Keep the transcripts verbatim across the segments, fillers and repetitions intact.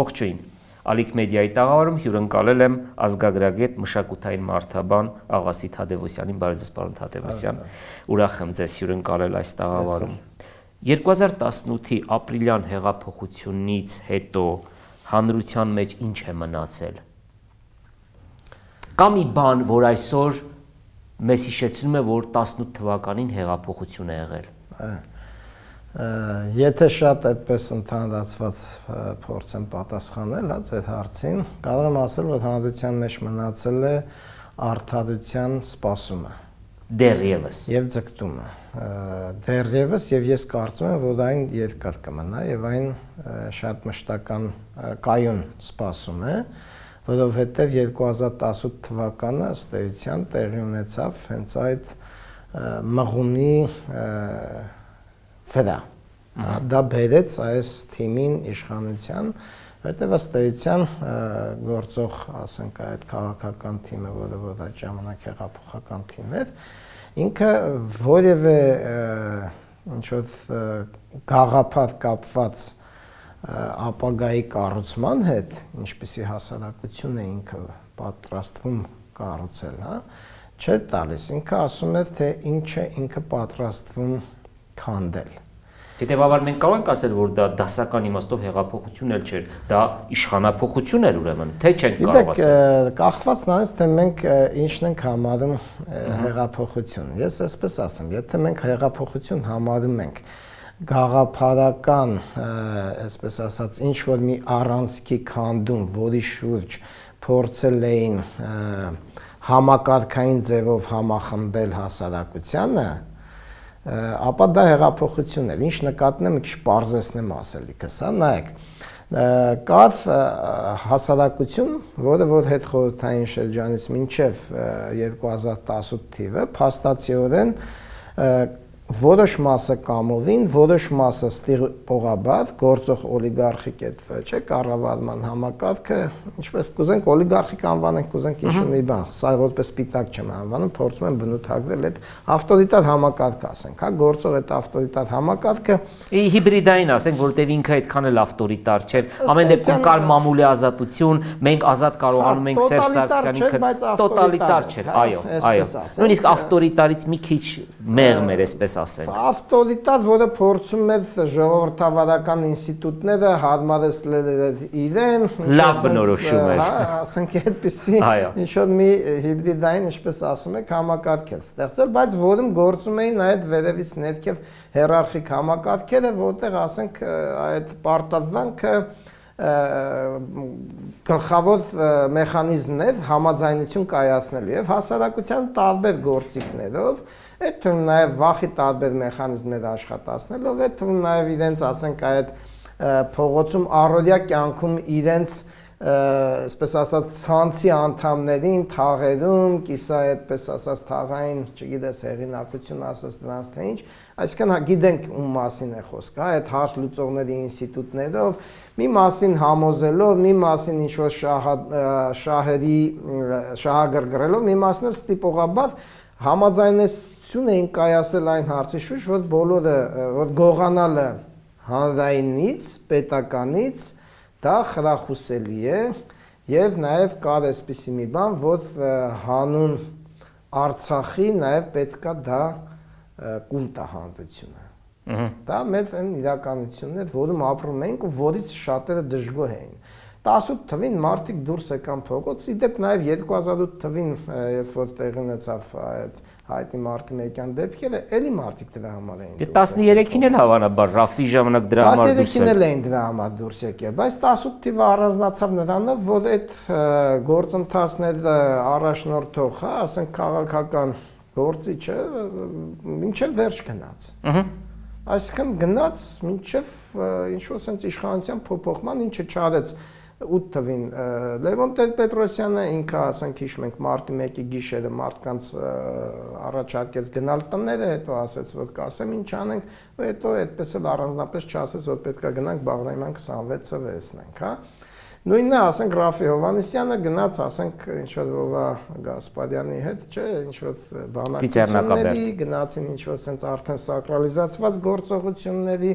Ողջույն, Ալիք մեդիայի տաղավարում հյուրընկալել եմ ազգագրագետ մշակութային մարդաբան Աղասիթ Թադևոսյանին, բարև ձեզ պարոն Թադևոսյան, ուրախ եմ ձեզ հյուրընկալել այս տաղավարում։ երկու հազար տասնութի ապրիլյան հեղափոխությունից հետո հանրության մեջ ինչ է մնացել։ Կա մի բան, որ այսօր մեզ հիշեցնում է, որ տասնութ թվականին հեղափոխություն է եղել։ Եթե շատ այդպես ընդհանրացված փորձեմ պատասխանել հա այդ հարցին, կարող եմ ասել, որ հանրության մեջ մնացել է արդարության սպասումը։ Դեռևս։ Եվ ձգտումը։ Դեռևս եւ ես կարծում եմ, որ այն երկար կմնա եւ այն շատ մշտական կայուն սպասում է, որովհետեւ երկու հազար տասնութ թվականը ըստ էության տեղի ունեցավ հենց այդ մղումի վրա։ Դա բերեց այս թիմին իշխանության, որտեղ ըստ էության գործող, ասենք, այդ քաղաքական թիմը, որը որ այդ ժամանակ հեղափոխական թիմ էր, ինքը որևէ ինչ-որ գաղափար կապված ապագայի կառուցման հետ, ինչպեսի հասարակություն է ինքը պատրաստվում կառուցել, հա, չէ տալիս, ինքը ասում է, թե ինչ է ինքը պատրաստվում քանդել։ Հետևաբար մենք կարող ենք ասել, որ դա դասական իմաստով հեղափոխություն էլ չէր, դա իշխանափոխություն էր ուրեմն, թե չենք կարող ասել։ Գիտեք, կախված նրանից, թե մենք ինչն ենք համարում հեղափոխություն։ Ես այսպես ասեմ, եթե մենք հեղափոխություն համարում ենք գաղափարական, այսպես ասած, ինչ որ մի առանցքի քանդում, որի շուրջ փորձել էին համակարգային ձևով համախմբել հասարակությանը, ապա դա հեղափոխություն էր, ինչ նկատն եմ, մի քիչ պարզեցնեմ ասելիքս, հա, նայեք, կար հասարակություն, որը որ հետխորհրդային շրջանից մինչև երկու հազար տասնութ թիվը փաստացիորեն որոշ մասը կամովին, որոշ մասը ստիպողաբար գործող օլիգարխիկ այդ, չէ, կառավարման համակարգը, ինչպես կուզենք օլիգարխիկ անվանենք, կուզենք ինչ-որ մի բան, սա որպես սպիտակ չեմ անվանում, փորձում եմ բնութագրել այդ ավտորիտար համակարգ ասենք, հա, գործող այդ ավտորիտար համակարգը հիբրիդային ասենք, որտեղ ինքը այդքան էլ ավտորիտար չէ, ամեն դեպքում կար մամուլի ազատություն, մենք ազատ կարողանում ենք Սերժ Սարգսյանին, տոտալիտար չէր, այո, այո, նույնիսկ ավտորիտարից մի քիչ մեղմ էր, այսպես ավտորիտար, որը փորձում էր ժողովրդավարական ինստիտուտները հարմարեցնել իրեն, լավ բնորոշում էր, ասենք այդպիսի ինչ-որ մի հիբրիդային, ինչպես ասում եք, համակարգեր ստեղծել, բայց որում գործում էին այդ վերևից ներքև հիերարխիկ համակարգերը, որտեղ ասենք այդ պարտադրանքը գլխավոր մեխանիզմն էր համաձայնություն կայացնելու եւ հասարակության տարբեր գործիքներով, այդ թվում նաեւ վախի տարբեր մեխանիզմներ աշխատացնելով, այդ թվում նաեւ իրենց, ասենք, այդ փողոցում առօրյա կյանքում իրենց, այսպես ասած, ցանցի անդամներին թաղերում, կիսա այդպես ասած թաղային, չգիտես, հեղինակություն ասած դրանց թե ինչ, այսինքն գիտենք ում մասին է խոսքը, այդ հարց լուծողների ինստիտուտներով, մի մասին համոզելով, մի մասին ինչ-որ շահերի շահագրգռելով, մի մասին ստիպողաբար համաձայնություն էին կայացնել այն հարցի շուրջ, որ բոլորը, որ գողանալը հանրայինից, պետականից, դա խրախուսելի է եւ նաեւ կար այսպիսի մի բան, որ հանուն Արցախի նաեւ պետքա դա կուլ տա հանրությունը։ Դա մեր այն իրականությունն է, որում ապրում ենք ու որից շատերը դժգոհ էին։ տասնութ թվին մարդիկ դուրս եկան փողոց, իդեպ նաեւ երկու հազար ութ թվին, երբ որ տեղի ունեցավ այդ հայտնի մարտի մեկյան դեպքերը, էլի մարդիկ դրա համար էին։ Դե տասներեքին էլ հավանաբար Ռաֆի ժամանակ դրա համար դուրս եկել։ տասներեքին էլ էին դրա համար դուրս եկել, բայց տասնութ թիվը առանձնացավ նրանով, որ այդ գործընթացները առաջնորդող, հա, ասենք քաղաքական գործիչը մինչև վերջ գնաց։ Այսինքն գնաց մինչև ինչ-որ sense իշխանության փոփոխման, ինչը չարեց ութ թվին Լևոն Տեր-Պետրոսյանը ինքը, ասենք, հիշում ենք մարտի մեկի գիշերը մարդկանց առաջարկեց գնալ տները, հետո ասեց, որ կասեմ ինչ անենք, ու հետո այդպես էլ առանձնապես չասեց, որ պետք է գնանք Բաղրամյան քսանվեցը վերցնենք, հա։ Նույնն է, ասենք, Ռաֆի Հովհաննիսյանը գնաց, ասենք, ինչ-որ Վովա Գասպարյանի հետ, չէ, ինչ-որ բանակցությունների, գնացին ինչ-որ sense արդեն սակրալիզացված գործողությունների,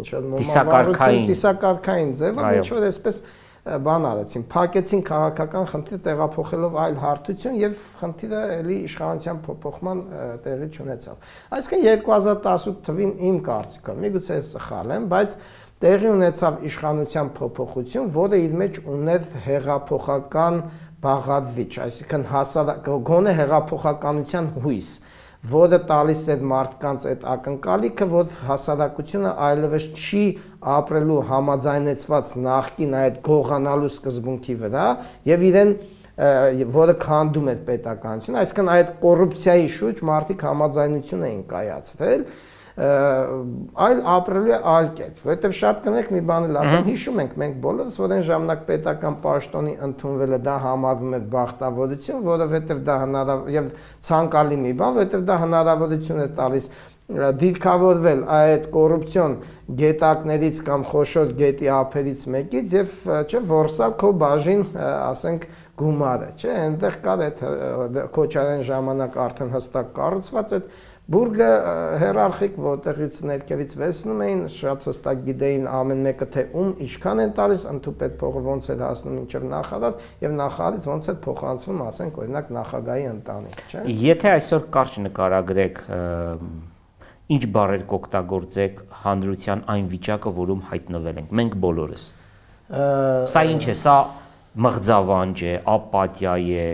ինչ-որ մոմավառություն, ծիսակարգային ձևով, ինչ-որ այսպես բան արեցին, փակեցին քաղաքական խնդիր տեղափոխելով այլ հարթություն եւ խնդիրը էլի իշխանության փոփոխման տեղի չունեցավ։ Այսինքն երկու հազար տասութ թվին իմ կարծիքով, միգուցե ես սխալ եմ, բայց տեղի ունեցավ իշխանության փոփոխություն, որը իր մեջ ուներ հեղափոխական բաղադրիչ, այսինքն հասարակ գոնե հեղափոխականության հույս, որը տալիս է մարդկանց այդ ակնկալիքը, որ հասարակությունը այլևս չի ապրելու համաձայնեցված նախկին այդ գողանալու սկզբունքի վրա եւ իրեն որը քանդում է պետականությունը, այսինքն այդ կոռուպցիայի շուրջ մարդիկ համաձայնություն էին կայացրել, այլ ապրելու է այլ կերպ, որովհետև շատ կնեք մի բան էլ ասեմ, հիշում ենք մենք բոլորս, որ այն ժամանակ պետական պաշտոնի ընդունվելը դա համարվում էր բախտավորություն, որովհետև դա հնարավոր եւ ցանկալի մի բան, որովհետև դա հնարավորություն է տալիս դիրքավորվել այդ կոռուպցիոն գետակներից կամ խոշոր գետի ափերից մեկից եւ չէ որսալ քո բաժին, ասենք, գումարը, չէ, այնտեղ կար այդ Քոչարյան ժամանակ արդեն հստակ կառուցված այդ բուրգը հերարխիկ, որտեղից ներքևից վերցնում էին, շատ հստակ գիտեին ամեն մեկը թե ում ինչքան են տալիս, ընդհուպետ փողը ոնց է հասնում մինչև նախարար եւ նախարարից ոնց է փոխանցվում, ասենք, օրինակ նախագահի ընտանիք, չէ։ Եթե այսօր կարճ նկարագրեք, ինչ բառեր կօգտագործեք հանրության այն վիճակը, որում հայտնվել ենք, մենք բոլորս։ Սա ինչ է, սա մղձավանջ է, ապաթիա է,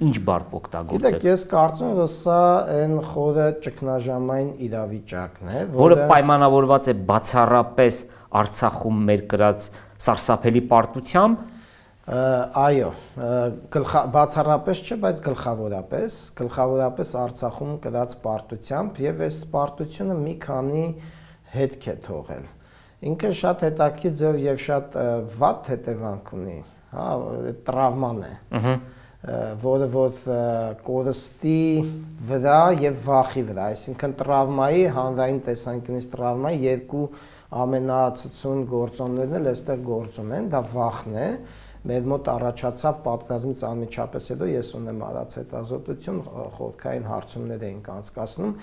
ինչ բառ կօգտագործեք։ Գիտեք, ես կարծում եմ, որ սա այն խորը ճգնաժամային իրավիճակն է, որը պայմանավորված է բացառապես Արցախում մեր կրած սարսափելի պարտությամբ։ Այո, բացառապես չէ, բայց գլխավորապես, գլխավորապես Արցախում կրած պարտությամբ եւ այս պարտությունը մի քանի հետք է թողել։ Ինքը շատ հետաքրքիր ձև եւ շատ վատ հետևանք ունի, հա, տրավման է, որը որ կորստի վրա եւ վախի վրա, այսինքն տրավմայի, հանրային տեսանկյունից տրավմայի երկու ամենացածուն գործոններն էլ այստեղ գործում են, դա վախն է։ Մեր մոտ առաջացավ պատերազմից անմիջապես հետո ես ունեմ արած հետազոտություն, խորհրդային հարցումներ էինք անցկացնում։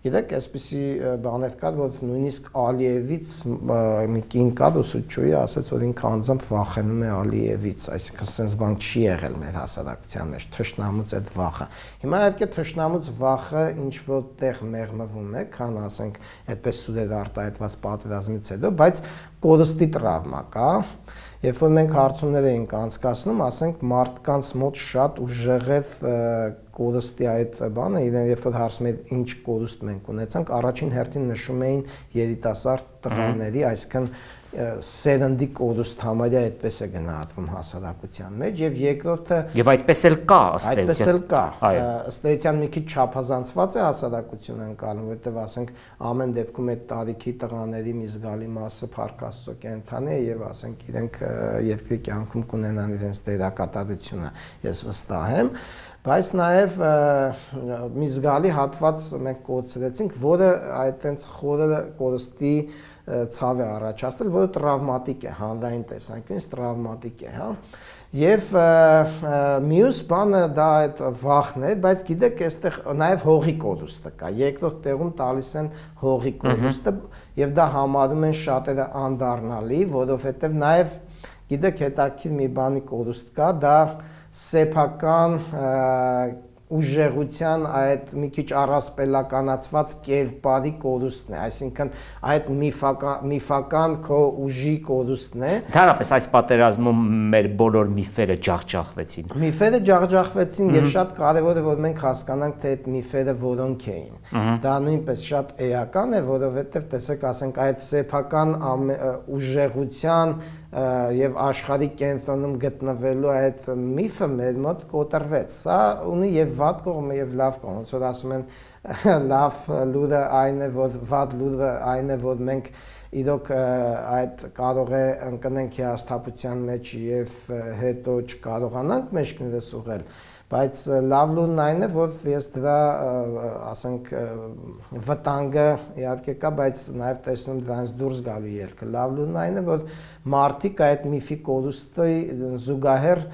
Գիտեք, այսպիսի բաներ կար, որ նույնիսկ Ալիևից մի կին կար, ուսուցչուհի ասաց, որ ինքը անձամբ վախենում է Ալիևից, այսինքն sense բան չի եղել մեր հասարակության մեջ, թշնամուց այդ վախը։ Հիմա այդ թշնամուց վախը ինչ որտեղ մեղմվում է, քան ասենք այդպես սուրեր արտահայտված պատերազմից հետո, բայց կորստի տրավմա կա։ Երբ որ մենք հարցումներ էինք անցկացնում, ասենք մարդկանց մոտ շատ ուժեղ է կորստի այդ բանը, իրեն երբ որ հարցում էին ինչ կորուստ մենք ունեցանք, առաջին հերթին նշում էին երիտասարդ տղաների, այսինքն սերնդի կորուստ համարյա այդպես է գնահատվում հասարակության մեջ եւ երկրորդը եւ այդպես էլ կա ըստ այդպես էլ կա ըստ էության մի քիչ չափազանցված է հասարակությունը անցալու, որովհետեւ ասենք ամեն դեպքում այդ տարիքի տղաների մի զգալի մասը փառքաստո կենթանի է եւ ասենք իրենք երկրի կյանքում կունենան իրենց դերակատարությունը, ես վստահ եմ, բայց նաեւ մի զգալի հատված մենք կորցրեցինք, որը այդտենց խորը կորստի ցավ է առաջացել, որը տրավմատիկ է, հանրային տեսանկյունից տրավմատիկ է, հա։ Եվ մյուս բանը դա այդ վախն է, բայց գիտեք, այստեղ նաև հողի կորուստը կա։ Երկրորդ տեղում տալիս են հողի կորուստը եւ դա համարում են շատերը անդառնալի, որովհետեւ նաև գիտեք, հետաքրքիր մի բանի կորուստ կա, դա սեփական ուժեղության այդ մի քիչ առասպելականացված կերպարի կորուստն է, այսինքն այդ միֆական միֆական քո ուժի կորուստն է։ Դարապես այս պատերազմում մեր բոլոր միֆերը ջախջախվեցին։ Միֆերը ջախջախվեցին եւ շատ կարեւոր է որ մենք հասկանանք թե այդ միֆերը որոնք էին։ Դա նույնպես շատ էական է, որովհետեւ տեսեք, ասենք այդ սեփական ուժեղության եւ աշխարհի կենտրոնում գտնվելու այդ միֆը մեր մոտ կոտրվեց։ Սա ունի եւ վատ կողմը եւ լավ կողմը, ոնց որ ասում են լավ լուրը այն է, որ վատ լուրը այն է, որ մենք իրոք այդ կարող է ընկնենք հիասթափության մեջ եւ հետո չկարողանանք մեջքներս ուղղել, բայց լավ լուրն այն է, որ ես դրա ասենք վտանգը իհարկե կա, բայց նաեւ տեսնում դրանից դուրս գալու ելքը։ Լավ լուրն այն է, որ մարդիկ այդ միֆի կորուստի զուգահեռ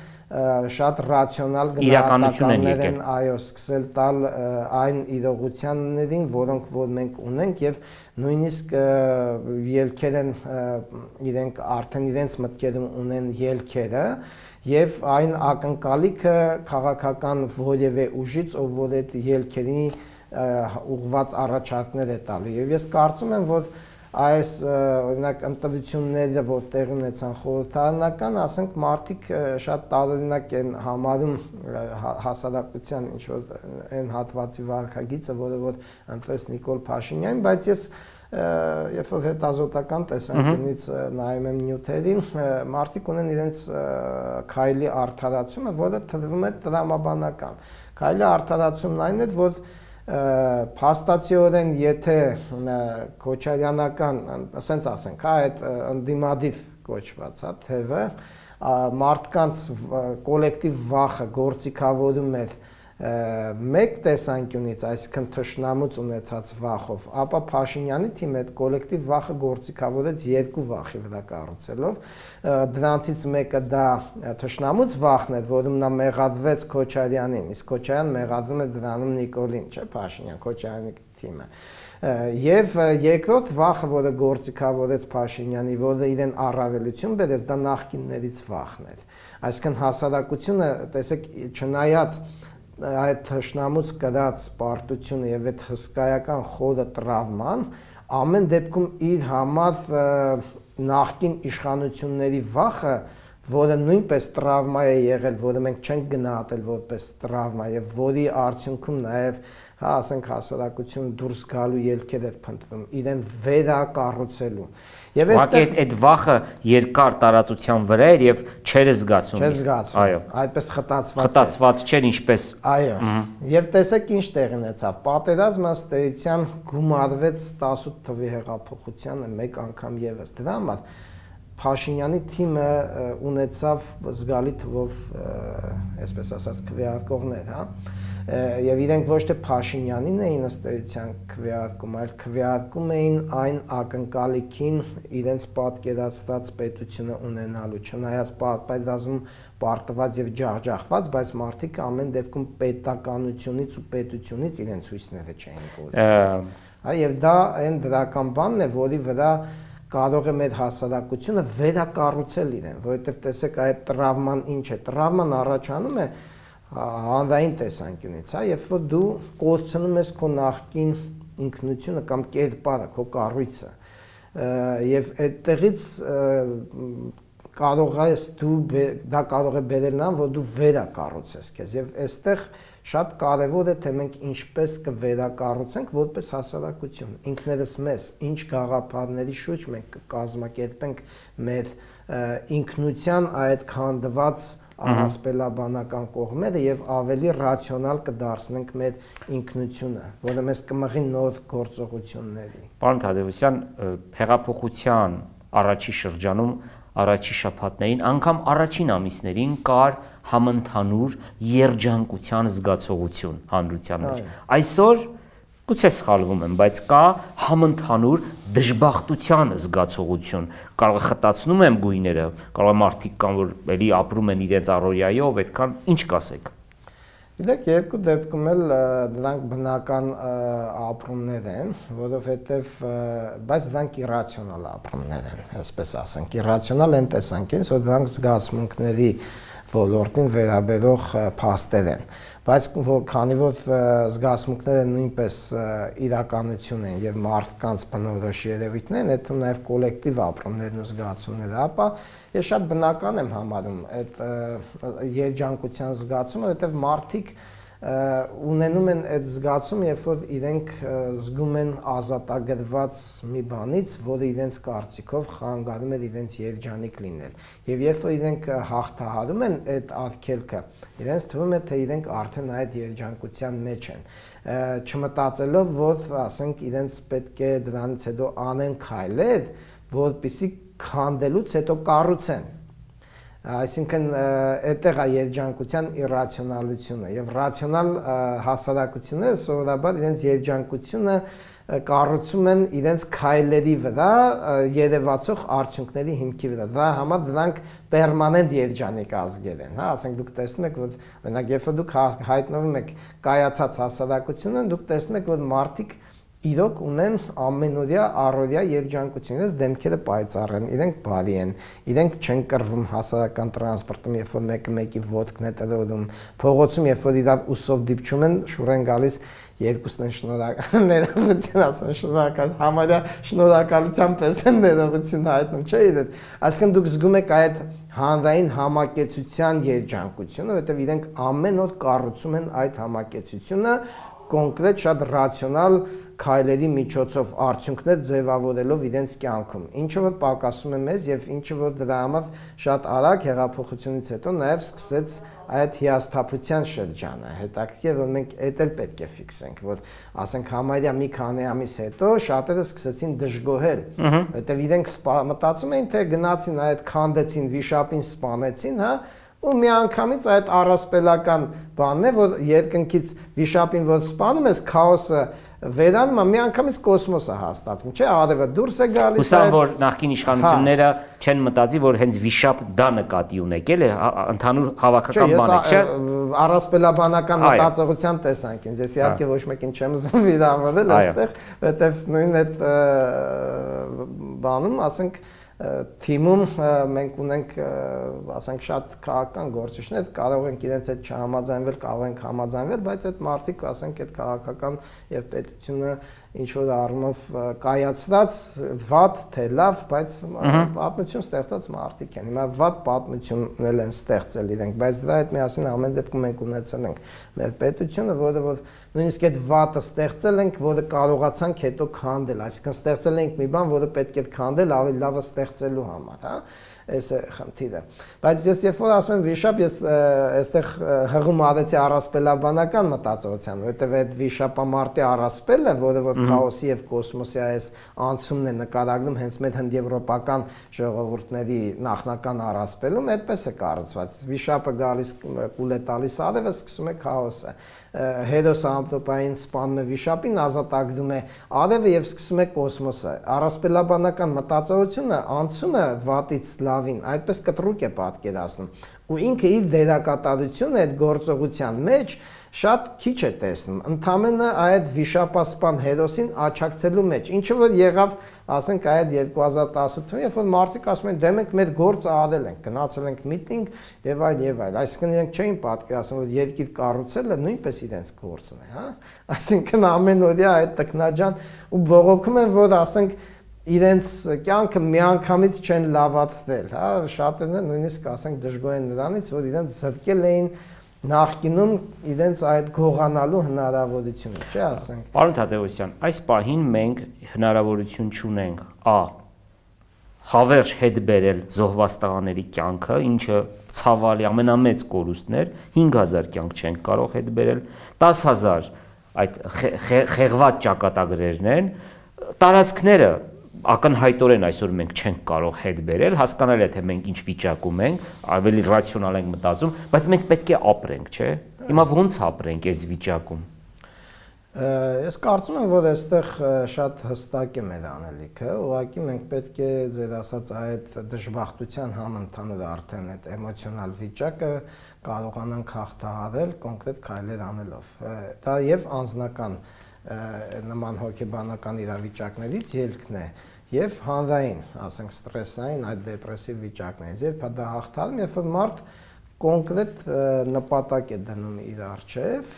շատ ռացիոնալ գնահատականներ են այո սկսել տալ այն իրողություններին, որոնք որ մենք ունենք եւ նույնիսկ ելքեր են իրենք արդեն իրենց մտքերում ունեն ելքերը եւ այն ակնկալիքը քաղաքական որևէ ուժից, ով որ այդ ելքերի ուղղված առաջարկներ է տալու եւ ես կարծում եմ, որ այս օրինակ ընտրությունները որ տեղի ունեցան խորհրդարանական, ասենք մարդիկ շատ տարօրինակ են համարում հասարակության ինչ որ այն հատվածի վարքագիծը, որը որ ընտրեց Նիկոլ Փաշինյանին, բայց ես երբ որ հետազոտական տեսանկյունից նայում եմ նյութերին, մարդիկ ունեն իրենց քայլի արդարացումը, որը թվում է տրամաբանական։ Քայլի արդարացումն այն է, որ փաստացիորեն եթե Քոչարյանական, ասենց ասենք, հա, այդ ընդդիմադիր կոչված, հա, թևը մարդկանց կոլեկտիվ վախը գործիքավորում էր մեկ տեսանկյունից, այսինքն թշնամուց ունեցած վախով, ապա Փաշինյանի թիմը այդ կոլեկտիվ վախը գործիքավորեց երկու վախի վրա կառուցելով, դրանցից մեկը դա թշնամուց վախն էր, որում նա մեղադրեց Քոչարյանին, իսկ Քոչարյան մեղադրում է դրանում Նիկոլին, չէ, Փաշինյան, Քոչարյանի թիմը։ Եվ երկրորդ վախը, որը գործիքավորեց Փաշինյանի, որը իրեն առավելություն բերեց, դա նախկիններից վախն էր։ Այսինքն հասարակությունը, տեսեք, չնայած այդ թշնամուց կրած պարտությունը եւ այդ հսկայական խորը տրավման ամեն դեպքում իր համար նախկին իշխանությունների վախը, որը նույնպես տրավմա է եղել, որը մենք չենք գնահատել որպես տրավմա եւ որի արդյունքում նաեւ հա ասենք հասարակությունը դուրս գալու ելքեր էր փնտրում իրեն վերակառուցելու եւ այստեղ այդ վախը երկար տարածության վրա էր եւ չէր զգացում այո այդպես խտացված խտացված չէր ինչպես այո եւ տեսեք ինչ տեղի ունեցավ պատերազմը ըստ էության գումարվեց տասութ թվի հեղափոխությանը մեկ անգամ եւս դրա համար Փաշինյանի թիմը ունեցավ զգալի թվով այսպես ասած քվեարկողներ, հա եւ իրենք ոչ թե Փաշինյանին էին ըստ էության քվեարկում, այլ քվեարկում էին այն ակնկալիքին իրենց պատկերացրած պետությունը ունենալու, չնայած պատերազմում պարտված եւ ջախջախված, բայց մարդիկ ամեն դեպքում պետականությունից ու պետությունից իրենց հույսները չէին կորցնում։ Հա եւ դա այն դրական բանն է, որի վրա կարող է մեր հասարակությունը վերակառուցել իրեն, որովհետև տեսեք այդ տրավման ինչ է, տրավման առաջանում է հանրային տեսանկյունից, հա, երբ որ դու կորցնում ես քո նախկին ինքնությունը կամ կերպարը, քո կառույցը, եւ այդտեղից կարող ես դու դա կարող է բերել նրան, որ դու վերակառուցես քեզ եւ այստեղ շատ կարևոր է թե մենք ինչպես կվերակառուցենք որպես հասարակություն ինքներս մեզ ինչ գաղափարների շուրջ մենք կկազմակերպենք մեր ինքնության այդ քանդված առասպելաբանական կողմերը եւ ավելի ռացիոնալ կդարձնենք մեր ինքնությունը, որը մեզ կմղի նոր գործողությունների։ Պարոն Թադևոսյան, հեղափոխության առաջի շրջանում առաջի շաբաթներին, անգամ առաջին ամիսներին կար համընդհանուր երջանկության զգացողություն հանրության մեջ։ Այսօր գուցե սխալվում եմ, բայց կա համընդհանուր դժբախտության զգացողություն։ Կարող է խտացնում եմ գույները, կարող է մարդիկ կան, որ էլի ապրում են իրենց առօրյայով, այդքան ինչ կասեք։ Գիտեք, երկու դեպքում էլ դրանք բնական ապրումներ են, որովհետև բայց դրանք իրացիոնալ ապրումներ են, այսպես ասենք, իրացիոնալ են տեսանկյունից, որ դրանք զգացմունքների ոլորտին վերաբերող փաստեր են, բայց քանի որ զգացմունքները նույնպես իրականություն են եւ մարդկանց բնորոշ երևույթներ են, այդ նաեւ կոլեկտիվ ապրումներն ու զգացումները, ապա ես շատ բնական եմ համարում այդ երջանկության զգացումը, որովհետեւ մարդիկ ունենում են այդ զգացումը, երբ որ իրենք զգում են ազատագրված մի բանից, որը իրենց կարծիքով խանգարում է իրենց երջանիկ լինել։ Եվ երբ որ իրենք հաղթահարում են այդ արգելքը, իրենց թվում է, թե իրենք արդեն այդ երջանկության մեջ են, չմտածելով, որ ասենք իրենց պետք է դրանից հետո անեն քայլեր, որպեսզի քանդելուց հետո կառուցեն։ Այսինքն այդտեղ է երջանկության իրացիոնալությունը եւ ռացիոնալ հասարակությունները սովորաբար իրենց երջանկությունը կառուցում են իրենց քայլերի վրա երևացող արդյունքների հիմքի վրա։ Դա համար դրանք պերմանենտ երջանիկ ազգեր են, հա, ասենք դուք տեսնում եք, որ օրինակ երբ դուք հայտնվում եք կայացած հասարակությունը, դուք տեսնում եք, որ մարդիկ իրոք ունեն ամենօրյա առօրյա երջանկություն, իրենց դեմքերը պայծառ են, իրենք բարի են, իրենք չեն կռվում հասարակական տրանսպորտում, երբ որ մեկը մեկի ոտքն է տրորում, փողոցում երբ որ իրար ուսով դիպչում են, շուռ են գալիս, երկուսն են շնորհակալ, ներողություն ասում, շնորհակալ, համարյա շնորհակալության պես են ներողություն հայտնում, չէ՞ իրեն։ Այսինքն դուք զգում եք այդ հանրային համակեցության երջանկությունը, որովհետև իրենք ամեն օր կառուցում են այդ համակեցությունը կոնկրետ շատ ռացիոնալ քայլերի միջոցով արդյունքներ ձևավորելով իրենց կյանքում, ինչը որ պակասում է մեզ եւ ինչը որ դրա համար շատ արագ հեղափոխությունից հետո նաեւ սկսեց այդ հիասթափության շրջանը։ Հետաքրքիր է, որ մենք այդ էլ պետք է ֆիքսենք, որ ասենք համարյա մի քանի ամիս հետո շատերը սկսեցին դժգոհել, որովհետեւ իրենք մտածում էին, թե գնացին այդ քանդեցին, վիշապին սպանեցին, հա, ու միանգամից այդ առասպելական բանն է, որ երկնքից վիշապին որ սպանում ես, քաոսը վերանում է, միանգամից կոսմոսը հաստատվում, չէ՞, արևը դուրս է գալիս։ Հուսամ, որ նախկին իշխանությունները չեն մտածի, որ հենց վիշապ դա նկատի ունեք, էլի ընդհանուր հավաքական բան է, չէ՞։ Առասպելաբանական մտածողության տեսանկյունից, ես իհարկե ոչ մեկին չեմ ուզում վիրավորել այստեղ, որովհետև նույն այդ բանում, ասենք թիմում մենք ունենք, ասենք, շատ քաղաքական գործիչներ, կարող ենք իրենց հետ չհամաձայնվել, կարող ենք համաձայնվել, բայց այդ մարդիկ, ասենք, այդ քաղաքական եւ պետությունը ինչ որ առումով կայացած վատ թե լավ, բայց պատմություն ստեղծած մարդիկ են։ Հիմա վատ պատմություններ են ստեղծել իրենք, բայց դրա հետ միասին ամեն դեպքում մենք ունեցել ենք մեր պետությունը, որը որ նույնիսկ այդ վատը ստեղծել ենք, որը կարողացանք հետո քանդել, այսինքն ստեղծել ենք մի բան, որը պետք է քանդել ավելի լավը ստեղծելու համար, հա։ Այս է խնդիրը։ Բայց ես երբ որ ասում եմ վիշապ, ես այստեղ հղում արեցի առասպելաբանական մտածողության, որովհետև այդ վիշապամարտի առասպելը, որը որ քաոսի եւ կոսմոսի այս անցումն է նկարագրում հենց մեր հնդեվրոպական ժողովուրդների նախնական առասպելում, այդպես է կառուցված։ Վիշապը գալիս կուլ է տալիս արևը, սկսում է քաոսը։ Հերոսը ամպրոպային սպանում է վիշապին, ազատագրում է արևը եւ սկսում է կոսմոսը։ Առասպելաբանական մտածողությունը անցումը վատից լավին, այդպես կտրուկ է պատկերացնում։ Ու ինքը իր դերակատարությունը այդ գործողության մեջ շատ քիչ է տեսնում, ընդամենը այդ վիշապասպան հերոսին աչակցելու մեջ, ինչը որ եղավ, ասենք, այդ երկու հազար տասութ թվականին, երբ որ մարդիկ ասում են, դե մենք մեր գործը արել ենք, գնացել ենք միտինգ եւ այլ եւ այլ, այսինքն իրենք չէին պատկերացնում, որ երկիր կառուցելը նույնպես իրենց գործն է, հա, այսինքն ամենօրյա այդ տքնաջան ու բողոքում են, որ ասենք իրենց կյանքը միանգամից չեն լավացնել, հա, շատերն են նույնիսկ ասենք դժգոհ են նրանից, որ իրենց զրկել էին նախկինում իրենց այդ գողանալու հնարավորությունը, չէ՞ ասենք։ Պարոն Թադևոսյան, այս պահին մենք հնարավորություն չունենք ա հավերժ հետ բերել զոհված տղաների կյանքը, ինչը ցավալի ամենամեծ կորուստներ, հինգ հազար կյանք չենք կարող հետ բերել, դաս հազար այդ խեղված ճակատագրերն են, տարածքները ակնհայտորեն այսօր մենք չենք կարող հետ բերել, հասկանալի է թե մենք ինչ վիճակում ենք, ավելի ռացիոնալ ենք մտածում, բայց մենք պետք է ապրենք, չէ՞։ Հիմա ո՞նց ապրենք այս վիճակում։ Ես կարծում եմ, որ այստեղ շատ հստակ է մեր անելիքը, ուղղակի մենք պետք է ձեր ասած այդ դժբախտության համընդհանուր արդեն այդ էմոցիոնալ վիճակը կարողանանք հաղթահարել կոնկրետ քայլեր անելով։ Դա եւ անձնական նման հոգեբանական իրավիճակներից ելքն է եւ հանրային, ասենք ստրեսային այդ դեպրեսիվ վիճակներից, երբ դա հաղթարում, երբ որ մարդ կոնկրետ նպատակ է դնում իր առջև,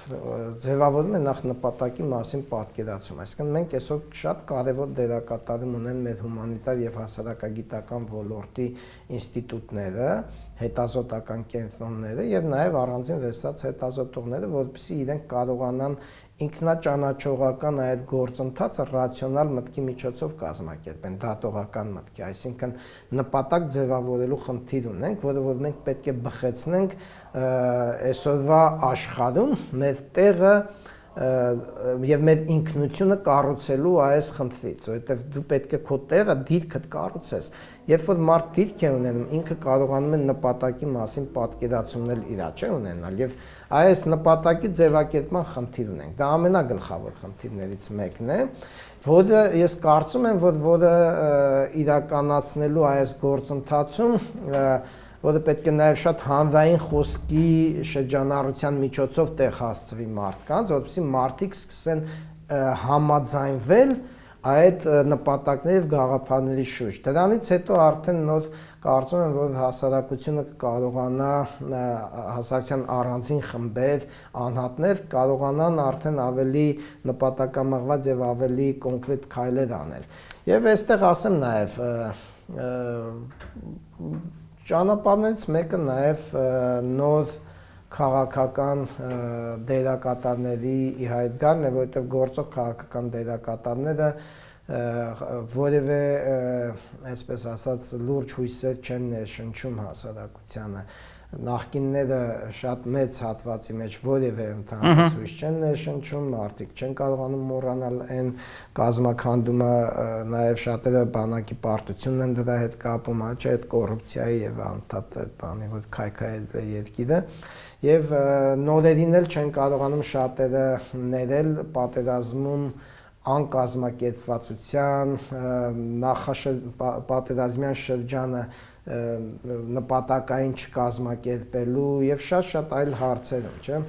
ձևավորում է նախ նպատակի մասին պատկերացում, այսինքն մենք այսօր շատ կարևոր դերակատարում ունեն մեր հումանիտար եւ հասարակագիտական ոլորտի ինստիտուտները, հետազոտական կենտրոնները եւ նաեւ առանձին վերցած հետազոտողները, որովհետեւ իրենք կարողանան ինքնաճանաչողական այդ գործընթացը ռացիոնալ մտքի միջոցով կազմակերպեն, դատողական մտքի, այսինքն նպատակ ձևավորելու խնդիր ունենք, որը որ մենք պետք է բխեցնենք այսօրվա աշխարհում մեր տեղը եւ մեր ինքնությունը կառուցելու այս խնդրից, որովհետեւ դու պետք է քո տեղը դիրքդ կառուցես։ Երբ որ մարդ դիրք է ունենում, ինքը կարողանում է նպատակի մասին պատկերացումն էլ իրա չէ ունենալ եւ այս նպատակի ձևակերպման խնդիր ունենք։ Դա ամենագլխավոր խնդիրներից մեկն է, որը ես կարծում եմ, որ որը իրականացնելու այս գործընթացում որը պետք է նաև շատ հանրային խոսքի շրջանառության միջոցով տեղ հասցվի մարդկանց, որովհետեւ մարդիկ սկսեն համաձայնվել այդ նպատակների եւ գաղափարների շուրջ։ Դրանից հետո արդեն նոր կարծում եմ, որ հասարակությունը կարողանա հասարակության առանձին խմբեր, անհատներ կարողանան արդեն ավելի նպատակամղված եւ ավելի կոնկրետ քայլեր անել։ Եվ այստեղ ասեմ նաև ճանապարհներից մեկը նաև նոր քաղաքական դերակատարների ի հայտ գալն է, որովհետև գործող քաղաքական դերակատարները որևէ, այսպես ասած, լուրջ հույսեր չեն ներշնչում հասարակությանը։ Նախկինները շատ մեծ հատվածի մեջ որևէ ընդհանրապես հույս չեն ներշնչում, մարդիկ չեն կարողանում մոռանալ այն կազմաքանդումը, նաև շատերը բանակի պարտությունն են դրա հետ կապում, չէ՞ այդ կոռուպցիայի եւ անդադ այդ բանի, որ քայքայել է երկիրը, եւ նորերին էլ չեն կարողանում շատերը ներել պատերազմում անկազմակերպվածության, նախապատերազմյան շրջանը նպատակային չկազմակերպելու եւ շատ-շատ այլ հարցերում, չէ՞։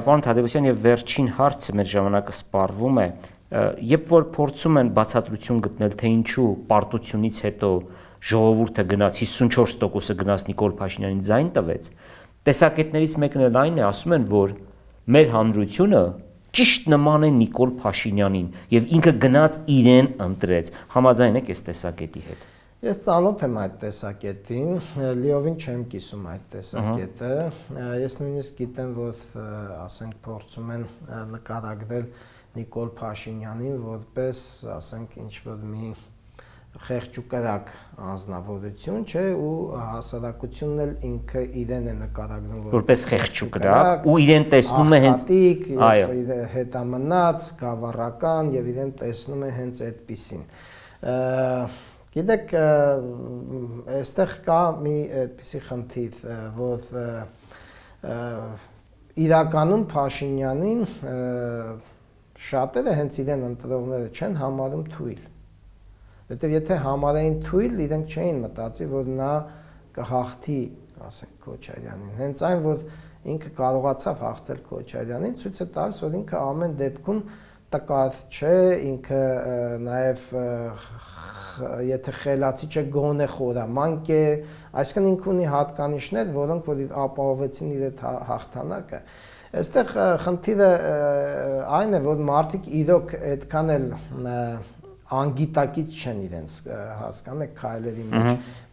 Պարոն Թադևոսյան, եւ վերջին հարցը մեր ժամանակը սպառվում է, երբ որ փորձում են բացատրություն գտնել, թե ինչու պարտությունից հետո ժողովուրդը գնաց հիսունչորս տոկոսը գնաց Նիկոլ Փաշինյանին ձայն տվեց, տեսակետներից մեկն էլ այն է, ասում են, որ մեր հանրությունը ճիշտ նման է Նիկոլ Փաշինյանին եւ ինքը գնաց իրեն ընտրեց։ Համաձայն եք այս տեսակետի հետ։ Ես ծանոթ եմ այդ տեսակետին, լիովին չեմ կիսում այդ տեսակետը։ Ես նույնիսկ գիտեմ, որ ասենք փորձում են նկարագրել Նիկոլ Փաշինյանին որպես, ասենք, ինչ-որ մի խեղճուկրակ անձնավորություն, չէ, ու հասարակությունն էլ ինքը իրեն է նկարագրում որպես խեղճուկրակ ու իրեն տեսնում է հենց հետամնաց, գավառական եւ իրեն տեսնում է հենց այդպիսին։ Գիտեք, այստեղ կա մի այդպիսի խնդիր, որ իրականում Փաշինյանին շատերը հենց իրեն ընտրողները չեն համարում թույլ։ Որտեւ եթե համարային թույլ, իրենք չէին մտածի, որ նա կհաղթի, ասենք, Քոչարյանին։ Հենց այն, որ ինքը կարողացավ հաղթել Քոչարյանին, ցույց է տալիս, որ ինքը ամեն դեպքում տկար չէ, ինքը նաև եթե խելացի չէ, գոնե խորամանկ է, այսինքն ինքը ունի հատկանիշներ, որոնք որ ապահովեցին իր այդ հաղթանակը։ Այստեղ խնդիրը այն է, որ մարդիկ իրոք այդքան էլ անգիտակից չեն իրենց հասկանում եք քայլերի մեջ։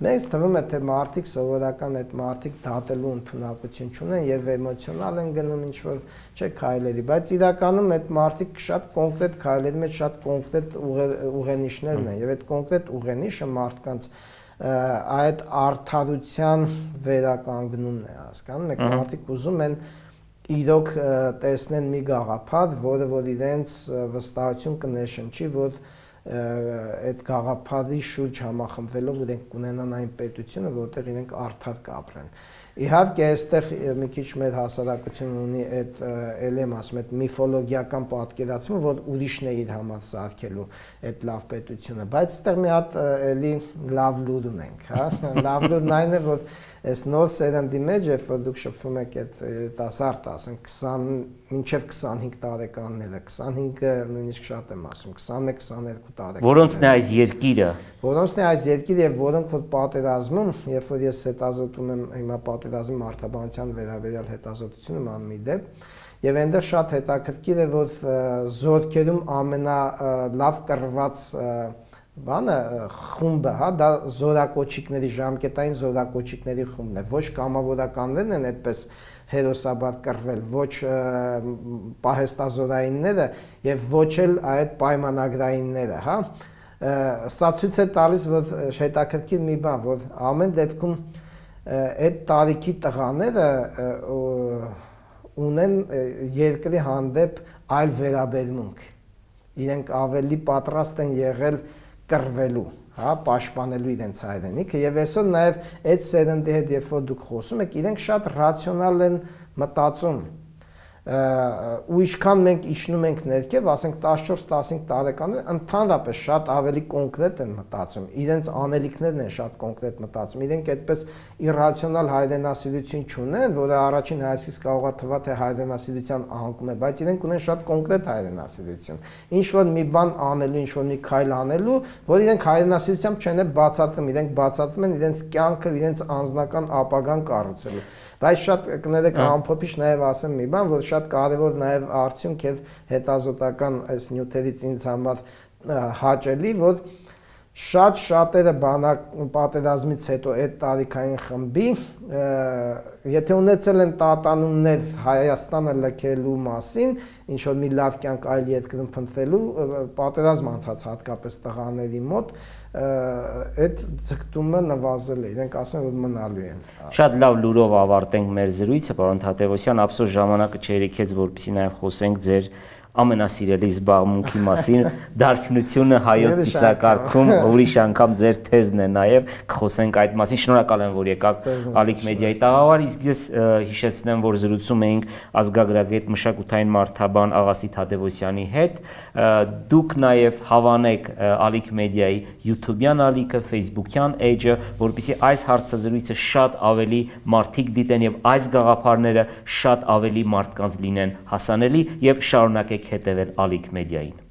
Մեզ թվում է, թե մարդիկ սովորական այդ մարդիկ դատելու ընդունակություն չունեն եւ էմոցիոնալ են գնում ինչ-որ չէ քայլերի, բայց իրականում այդ մարդիկ շատ կոնկրետ քայլերի մեջ շատ կոնկրետ ուղենիշներն են եւ այդ կոնկրետ ուղենիշը մարդկանց այդ արդարության վերականգնումն է, հասկանում եք, մարդիկ ուզում են իրոք տեսնեն մի գաղափար, որը որ իրենց վստահություն կներշնչի, որ այդ գաղափարի շուրջ համախմբվելով իրենք կունենան այն պետությունը, որտեղ իրենք արդար կապրեն։ Իհարկե, այստեղ մի քիչ մեր հասարակությունը ունի այդ էլ եմ ասում, այդ միֆոլոգիական պատկերացումը, որ ուրիշն է իր համար սարքելու այդ լավ պետությունը, բայց այստեղ մի հատ էլի լավ լուր ունենք, հա։ Լավ լուրն այն է, որ այս նոր սերնդի մեջ, երբ որ դուք շփվում եք այդ տասարդ, ասենք քսան մինչև քսանհինգ տարեկանները, քսանհինգը նույնիսկ շատ եմ ասում, քսանմեկ քսաներկու տարեկան։ Որոնցն է այս երկիրը։ Որոնցն է այս երկիրը եւ որոնք որ պատերազմում, երբ որ ես հետազոտում եմ հիմա պատերազմի մարդաբանության վերաբերյալ հետազոտություն եմ անում իդեպ, եւ այնտեղ շատ հետաքրքիր է, որ զորքերում ամենալավ կռված բանը խումբը, հա, դա զորակոչիկների ժամկետային զորակոչիկների խումբն է, ոչ կամավորականներն են այդպես հերոսաբար կռվել, ոչ պահեստազորայինները եւ ոչ էլ այդ պայմանագրայինները, հա։ Սա ցույց է տալիս, որ հետաքրքիր մի բան, որ ամեն դեպքում այդ տարիքի տղաները ունեն երկրի հանդեպ այլ վերաբերմունք։ Իրենք ավելի պատրաստ են եղել կռվելու, հա, պաշտպանելու իրենց հայրենիքը եւ այսօր նաեւ այդ սերնդի հետ երբ որ դուք խոսում եք, իրենք շատ ռացիոնալ են մտածում ու ինչքան մենք իջնում ենք ներքև, ասենք տասնչորս տասնհինգ տարեկաններ ընդհանրապես շատ ավելի կոնկրետ են մտածում, իրենց անելիքներն են շատ կոնկրետ մտածում, իրենք այդպես իրացիոնալ հայրենասիրություն չունեն, որը առաջին հայացքից կարող է թվալ թե հայրենասիրության անկում է, բայց իրենք ունեն շատ կոնկրետ հայրենասիրություն, ինչ որ մի բան անելու, ինչ որ մի քայլ անելու, որ իրենք հայրենասիրությամբ չեն բացատրում, իրենք բացատրում են իրենց կյանքը, իրենց անձնական ապագան կառուցելու։ Բայց շատ կներեք ամփոփիչ նաև ասեմ մի բան, որ շատ կարևոր նաև արդյունք է հետազոտական այս նյութերից ինձ համար հաճելի, որ շատ շատերը բանակ պատերազմից հետո այդ տարիքային խմբի եթե ունեցել են տատանումներ Հայաստանը լքելու մասին, ինչ որ մի լավ կյանք այլ երկրում փնտրելու, պատերազմ անցած հատկապես տղաների մոտ, այդ ձգտումը նվազել է, իրենք ասում են, որ մնալու են։ Շատ լավ լուրով ավարտենք մեր զրույցը, պարոն Թադևոսյան, ափսոս ժամանակը չերիքեց, որպեսզի նաև խոսենք ձեր ամենասիրելի զբաղմունքի մասին, դարբնությունը հայոց ծիսակարգում, ուրիշ անգամ ձեր թեզն է նաև, կխոսենք այդ մասին, շնորհակալ եմ, որ եկաք Ալիք մեդիայի տաղավար, իսկ ես հիշեցնեմ, որ զրուցում էինք ազգագրագետ մշակութային մարդաբան Աղասի Թադևոսյանի հետ, դուք նաև հավանեք Ալիք մեդիայի YouTube-յան ալիքը, Facebook-յան էջը, որպեսզի այս հարցազրույցը շատ ավելի մարդիկ դիտեն եւ այս գաղափարները շատ ավելի մարդկանց լինեն հասանելի եւ շարունակեք հետևել Ալիք մեդիային։